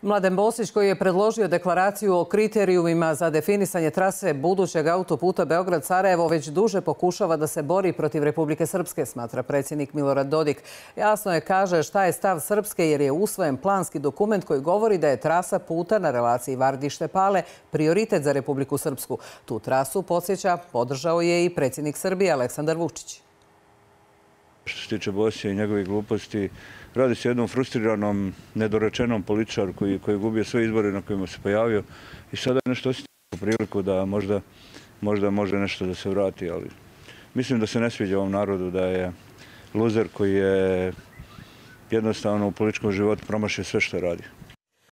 Mladen Bosić, koji je predložio deklaraciju o kriterijumima za definisanje trase budućeg autoputa Beograd-Sarajevo, već duže pokušava da se bori protiv Republike Srpske, smatra predsjednik Milorad Dodik. Jasno je, kaže, šta je stav Srpske, jer je usvojen planski dokument koji govori da je trasa puta na relaciji Vardište-Pale prioritet za Republiku Srpsku. Tu trasu, podsjeća, podržao je i predsjednik Srbije Aleksandar Vučić. Što se tiče Bosića i njegovih gluposti, radi se o jednom frustriranom, nedorečenom političaru koji je gubio sve izbore na kojima se pojavio i sada je nešto osjetio priliku da možda može nešto da se vrati, ali mislim da se ne sviđa ovom narodu, da je luzer koji je jednostavno u političkom životu promašio sve što radi.